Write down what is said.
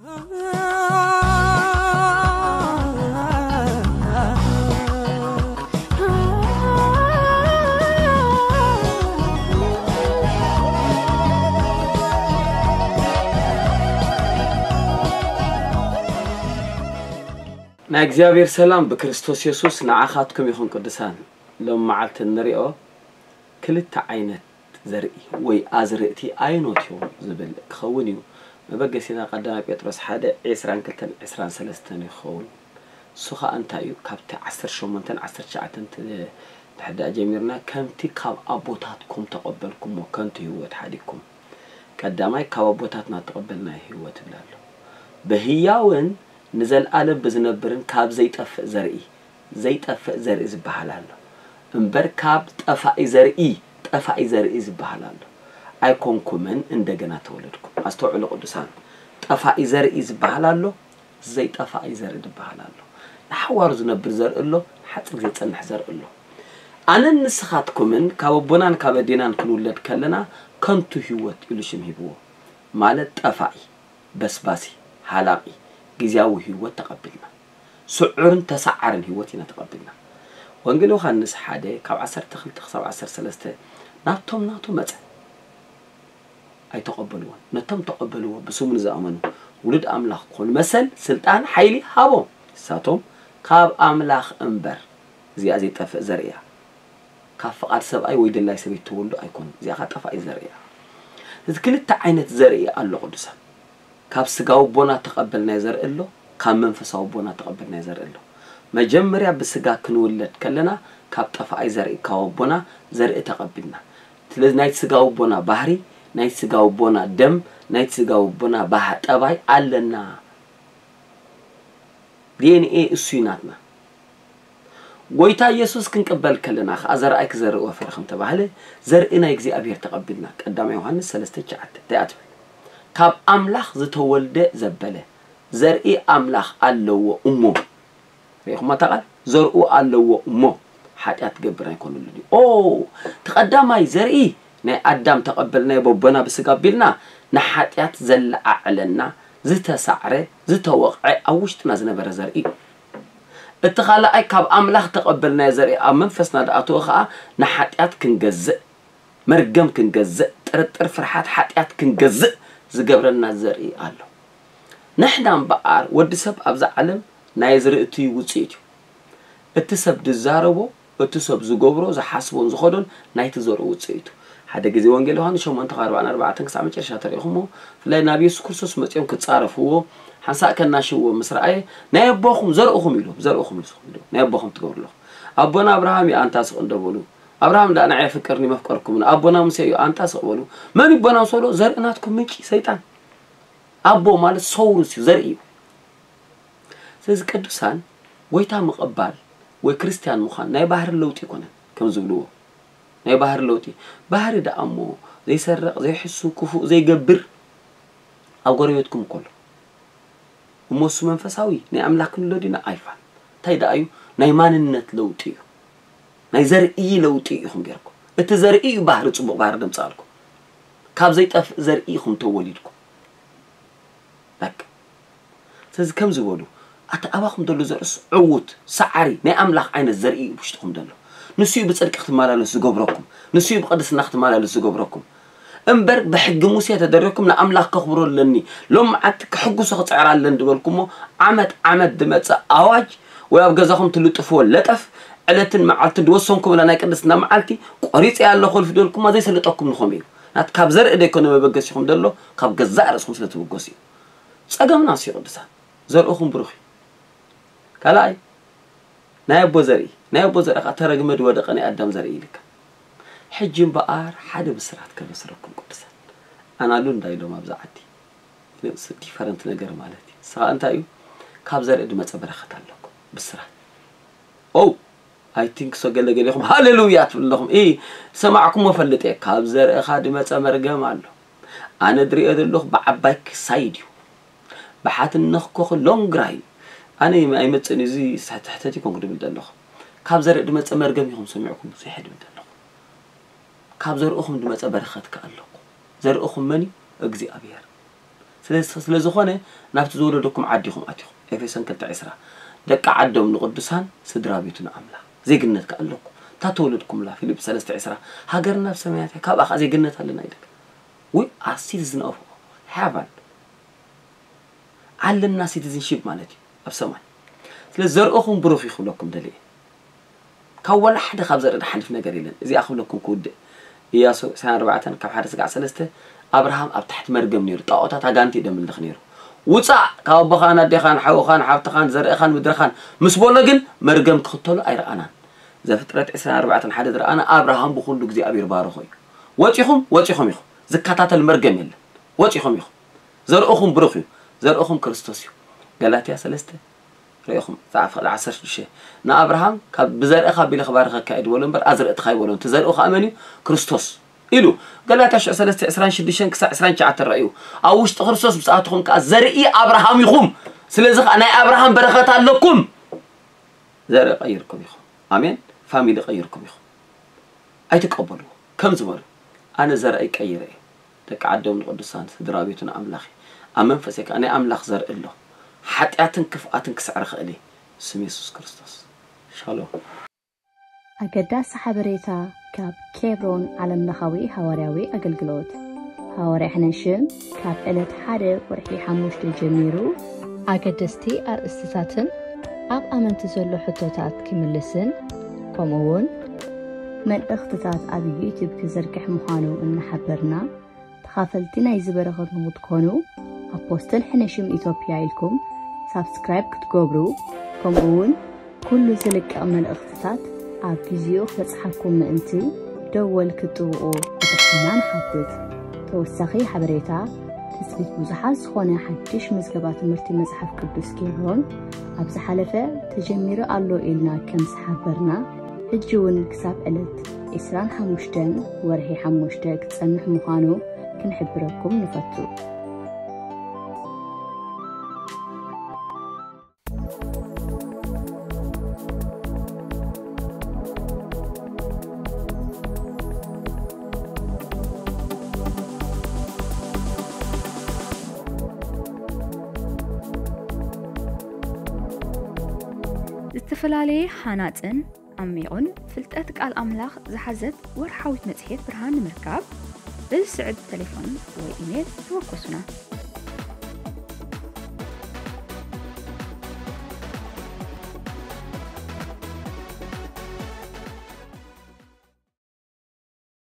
ናይ እግዚኣብሔር ሰላም ብክርስቶስ የሱስ ንዓኻትኩም ይኹን ቅዱሳን። ሎም መዓልቲ እንሪኦ ክልተ ዓይነት ዘርኢ ወይ ኣዝርእቲ ኣይኖት እዮም ዝብል ክኸውን እዩ። መበገሲና ቀዳማይ ጴጥሮስ ሓደ ዕስራን ክልተን ዕስራን ሰለስተን ይኸውን። እሱ ኸኣ እንታይ እዩ? ካብቲ ዓሰርተ ሸሞንተን ዓሰርተ ትሽዓተን ት-፣ ንሕዳእ ጀሚርና፣ ከምቲ ካብ ኣቦታትኩም ተቐበልኩሞ ከንቱ ህይወት ሓዲግኩም። ቀዳማይ ካብ ኣቦታትና ተቐበልናዮ ህይወት ይብል ኣሎ። ብህያውን ንዘለኣለም ብዝነብርን ካብ ዘይጠፍእ ዘርኢ፣ ዘይጠፍእ ዘርኢ ዝበሃል ኣሎ። እምበር ካብ ጠፋኢ ዘርኢ፣ ጠፋኢ ዘርኢ ዝበሃል ኣሎ። ኣይኮንኩምን እንደገና ተወለድኩም። ኣስተውዕሉ ቅዱሳን፣ ጠፋኢ ዘርኢ ዝበሃል ኣሎ፣ ዘይጠፋኢ ዘርኢ ዝበሃል ኣሎ። ንሓዋሩ ዝነብር ዘርኢ ኣሎ፣ ንሓጺር ግዜ ዝጸንሕ ዘርኢ ኣሎ። ኣነን ንስኻትኩምን ካብ ኣቦናን ካብ ኣዴናን ክንውለድ ከለና ከንቱ ህይወት ኢሉ ሽም ሂብዎ። ማለት ጠፋኢ፣ በስባሲ፣ ሃላቂ፣ ግዝያዊ ህይወት ተቐቢልና። ስዑርን ተሰዓርን ህይወት ኢና ተቐቢልና። ወንጌል ዮሃንስ ሓደ ካብ ዓሰርተ ክልተ ክሳብ ዓሰርተ ሰለስተ ናብቶም ናቱ መጸ። ኣይተቐበልዎን። ነቶም ተቐበልዎ ብስሙ ንዝኣመኑ ውሉድ ኣምላኽ ክኾኑ መሰል፣ ስልጣን፣ ሓይሊ ሃቦም። ንሳቶም ካብ ኣምላኽ እምበር፣ እዚኣ ዘይጠፍእ ዘርኢ እያ። ካብ ፍቓድ ሰብኣይ ወይ ድላይ ሰበይቲ ተወልዱ ኣይኮኑን። እዚኣ ኸዓ ጠፋኢ ዘርኢ እያ። እዚ ክልተ ዓይነት ዘርኢ ኣሎ ቅዱሳን። ካብ ስጋዊ ኣቦና ተቐበልናዮ ዘርኢ ኣሎ፣ ካብ መንፈሳዊ ኣቦና ተቐበልናዮ ዘርኢ ኣሎ። መጀመርያ ብስጋ ክንውለድ ከለና ካብ ጠፋኢ ዘርኢ ካብ ኣቦና ዘርኢ ተቐቢልና። ስለዚ ናይ ስጋዊ ኣቦና ባህሪ፣ ናይ ስጋዊ ኣቦና ደም፣ ናይ ስጋዊ ኣቦና ባህ-፣ ጠባይ ኣለና። ዲ ኤን ኤ እሱ እዩ ናትና። ጎይታ ኢየሱስ ክንቅበል ከለና ኸዓ ዘርኣይ ክዘርእ ወፈሪ ከም ተባህለ ዘርኢ ናይ እግዚኣብሔር ተቐቢልና። ቀዳማይ ዮሃንስ ሰለስተ ትሽዓተ እንታይ እያ ትብል? ካብ ኣምላኽ ዝተወልደ ዘበለ ዘርኢ ኣምላኽ ኣለዎ እሞ። ርኢኹማ እታ ቃል? ዘርኡ ኣለዎ እሞ ሓጢኣት ክገብር ኣይኮነሉን እዩ። ኦ፣ እቲ ቀዳማይ ዘርኢ ናይ ኣዳም ተቐበልናዮ በቦና ብስጋ ኣቢልና ንሓጢኣት ዘለዓዕለና ዝተሳዕረ ዝተወቕዐ ኣብ ውሽጥና ዝነበረ ዘርኢ እዩ። እቲ ካልኣይ ካብ ኣምላኽ ተቐበልናዮ ዘርኢ ኣብ መንፈስና ዝኣተወ ኸዓ ንሓጢኣት ክንገዝእ፣ መርገም ክንገዝእ፣ ጥርጥር ፍርሓት ሓጢኣት ክንገዝእ ዝገብረና ዘርኢ ኣሎ። ንሕና እምበኣር ወዲ ሰብ ኣብዛ ዓለም ናይ ዝርእቲ ውፅኢት እዩ። እቲ ሰብ ዝዛረቦ፣ እቲ ሰብ ዝገብሮ፣ ዝሓስቦን ዝኸዶን ናይቲ ዘርኡ ውፅኢት እዩ። ሓደ ግዜ ወንጌል ዮሃንስ ሸሞንተ ካብ ኣርባዓን ኣርባዕተን ክሳብ መጨረሻ ተሪእኹሞ፣ ብፍላይ ናብ የሱስ ክርስቶስ መፂኦም ክፃረፍዎ፣ ሓንሳእ ከናሽውዎ ምስ ረኣየ፣ ናይ ኣቦኹም ዘርእኹም ኢሉ፣ ዘርእኹም ኢሉ፣ ናይ ኣቦኹም ትገብሩ ኣለኹም። ኣቦና ኣብርሃም እዩ ኣንታ ስቕ እንዶ በሉ። ኣብርሃም ደኣ ንዓይ የፍቅርኒ መፍቀርኩምኒ፣ ኣቦና ሙሴ እዩ ኣንታ ስቕ በሉ። መን እዩ ኣቦና ምስ በሎ፣ ዘርኢ ናትኩም ምንጪ ሰይጣን። ኣቦ ማለት ሰውርስ እዩ፣ ዘርኢ እዩ። ስለዚ ቅዱሳን፣ ጎይታ ምቕባል ወይ ክርስትያን ምዃን ናይ ባህሪ ለውጢ ኣይኮነን፣ ከም ዝብልዎ። ናይ ባህሪ ለውጢ። ባህሪ ደኣ እሞ ዘይሰርቕ፣ ዘይሕሱ፣ ክፉእ ዘይገብር ኣብ ጎረቤትኩም እኮ ኣሎ። እሞ እሱ መንፈሳዊ ናይ ኣምላኽ ክንብሎ ዲና? ኣይፋል። እንታይ ደኣ እዩ? ናይ ማንነት ለውጢ እዩ። ናይ ዘርኢ ለውጢ ኢኹም ገይርኩም። እቲ ዘርኢ እዩ ባህሪ፣ ጽቡቕ ባህሪ ደምጻልኩም። ካብ ዘይጠፍእ ዘርኢ ኢኹም ተወሊድኩም። በቃ። ስለዚ ከም ዝበሉ፣ ኣቲ ኣባኹም ዘሎ ዘርእስ ዕዉት፣ ሰዓሪ፣ ናይ ኣምላኽ ዓይነት ዘርኢ እዩ ውሽጥኹም ዘሎ። ንሱ እዩ ብጽድቂ ክትመላለሱ ዝገብረኩም። ንሱ እዩ ብቅድስና ክትመላለሱ ዝገብረኩም። እምበር ብሕጊ ሙሴ ተደሪኽኩም ንኣምላኽ ከኽብሮ ኣለኒ፣ ሎም መዓልቲ ክሕጉሶ ክጽዕር ኣለኒ ዝበልኩሞ፣ ዓመት ዓመት ዝመጽእ ኣዋጅ ወይ ኣብ ገዛኹም ትልጥፍዎ ለጠፍ፣ ዕለትን መዓልትን ዝወሰንኩምላ ናይ ቅድስና መዓልቲ ቆሪጸያ ኣለኹ እልፊ ዝበልኩማ ዘይሰልጠኩም ንኹም እዩ። ናት ካብ ዘርኢ ደይኮነ መበገሲኹም ዘሎ፣ ካብ ገዛእ ርእስኹም ስለ ትብገሱ እዩ። ጸገምና እሱ እዩ ቅዱሳን። ዘርእኹም ብሩኽ እዩ። ካልኣይ፣ ናይ ኣቦ ዘርኢ፣ ናይ ኣቦ ዘርኢ ኸዓ ተረግመ ዝወደቐ ናይ ኣዳም ዘርኢ ኢልካ። ሕጂ እምበኣር ሓደ ብስራት ከበስረኩም ቅዱሳን። ኣናሉ እንዳ ኢሎም ኣብዛ ዓዲ። ንሱ ዲፈረንት ነገር ማለት እዩ። ንስኻ እንታይ እዩ? ካብ ዘርኢ ዝመጸ በረኸት ኣለኩም። ብስራት። ኦ፣ ኣይ ቲንክ ሶ ገለ ገሊኹም ሃሌሉያ ትብሉ ኣለኹም። ኢ፣ ሰማዕኩሞ ፈልጥ እየ። ካብ ዘርእኻ ዝመጸ መርገም ኣሎ። ኣነ ዝሪኦ ዘለኹ ብዓባይ ክሳይድ እዩ። ብሓትነኽ ኮኸ ሎንግ ራይ። ኣነ ኣይመጽእን እዩ፣ እዚ ሕተት ይኮንኩ ድብል ዘለኹ። ካብ ዘርኢ ዝመጸ መርገም ኢኹም ሰሚዕኩም ብዙሕ ድብል ዘለኹ። ካብ ዘርእኹም ዝመጸ በረኸት ከኣ ኣለኩ። ዘርእኹም መን እዩ? እግዚኣብሔር። ስለ ዝኾነ ናብቲ ዝወለደኩም ዓዲ ኢኹም ኣቲኹም። ኤፌሶን ክልተ ዕስራ፣ ደቂ ዓዶም ንቕዱሳን፣ ስድራ ቤቱ ንኣምላኽ። ዜግነት ከኣ ኣለኩም። እታ ተወለድኩምላ፣ ፊልጵ ሰለስተ ዕስራ፣ ሃገርና ኣብ ሰማያት እያ፣ ካብኣ ከኣ ዜግነት ኣለና። ይደግ We are citizen of heaven። ኣለና ሲቲዝንሺፕ ማለት እዩ ኣብ ሰማይ። ስለ ዘርእኹም ብሩኽ ይኽብለኩም ደልየ። ካብ ዋላ ሓደ ካብ ዘርኢ ድሓልፍ ነገር የለን። እዚኣ ክብለኩም ክውድእ። ኢያሱ ዕስራን ኣርባዕተን ካብ ሓደ ስጋዕ ሰለስተ፣ ኣብርሃም ኣብ ትሕቲ መርገም ነይሩ። ጣዖታት ኣጋንቲ እዩ ደምልኽ ነይሩ። ውፃእ ካብ ኣቦኻን ኣዴኻን ሓውኻን ሓብትኻን ዘርእኻን ምድርኻን ምስ በሎ ግን መርገም ክኽተሎ ኣይረኣናን። ዘፍጥረት ዕስራን ኣርባዕተን ሓደ ዝረኣና ኣብርሃም ብኹሉ እግዚኣብሔር ባረኾ እዩ። ወፂኹም ወፂኹም ኢኹም። ዝከታተል መርገም የለን። ወፂኹም ኢኹም። ዘርእኹም ብሩኽ እዩ። ዘርእኹም ክርስቶስ እዩ። ገላትያ ሰለስተ ርኢኹም ዛዕፍ ክልተ ዓሰርተ ሽዱሽተ ንኣብርሃም ካብ ብዘርእኻ ኣቢለ ክባርኸካ እየ ዝበሎ እምበር ኣዝርእትኻ ኣይበሎን። እቲ ዘርእኡ ከዓ መን እዩ? ክርስቶስ ኢሉ። ገላትያ ሽዑ ሰለስተ ዕስራን ሽዱሽተን ክሳዕ ዕስራን ትሽዓተን ረእዩ። ኣብ ውሽጢ ክርስቶስ ብፅኣትኹም ከዓ ዘርኢ ኣብርሃም ኢኹም። ስለዚ ከዓ ናይ ኣብርሃም በረኸት ኣለኩም። ዘርኢ ቀይርኩም ኢኹም። ኣሜን። ፋሚሊ ቀይርኩም ኢኹም። ኣይትቀበልዎ። ከም ዝበሉ ኣነ ዘርኣይ ቀይረ እየ። ደቂ ዓዶም ንቅዱሳን ስድራ ቤቱ ንኣምላኽ እየ። ኣብ መንፈሰይ ከኣ ናይ ኣምላኽ ዘርኢ ኣሎ። ሓጢኣትን ክፍኣትን ክስዕር እኽእል እየ። ስም የሱስ ክርስቶስ። ሻሎም። ኣገዳሲ ሓበሬታ ካብ ኬብሮን ዓለምለኻዊ ሃዋርያዊ ኣገልግሎት። ሃዋርያ ሕነሽም ካብ ዕለት ሓደ ወርሒ ሓሙሽተ ጀሚሩ ኣገደስቲ ኣርእስትታትን ኣብ ኣመንቲ ዘሎ ሕቶታት ክምልስን ከምኡ እውን መልእኽትታት ኣብ ዩቲዩብ ክዝርግሕ ምዃኑ እናሓበርና፣ ተኻፈልቲ ናይዚ በረኸት ንኽትኮኑ ኣፖስትል ሕነሽም ኢትዮጵያ ኢልኩም ሳብስክራይብ ክትገብሩ፣ ከምኡ እውን ኩሉ ዝልቀቕ መልእኽትታት ኣብ ግዜኡ ክበጽሓኩም ምእንቲ ደወል ክትጥውቑ ብትሕትና ንሓትት። ተወሳኺ ሓበሬታ፣ ትጽቢት ብዙሓት ዝኾነ ሓድሽ ምዝገባ ትምህርቲ መጽሓፍ ቅዱስ ኬብሮን ኣብ ዝሓለፈ ተጀሚሩ ኣሎ ኢልና ከም ዝሓበርና፣ ሕጂ እውን ክሳብ ዕለት ዕስራን ሓሙሽተን ወርሒ ሓሙሽተ ክጸንሕ ምዃኑ ክንሕብረኩም ንፈቱ። ዝተፈላለየ ሃናጽን ዓሚቑን ፍልጠት ቃል ኣምላኽ ዝሓዘት ወርሓዊት መጽሔት ብርሃን ንምርካብ፣ ብዝስዕብ ተሌፎን ወይ ኢሜል ተወከሱና።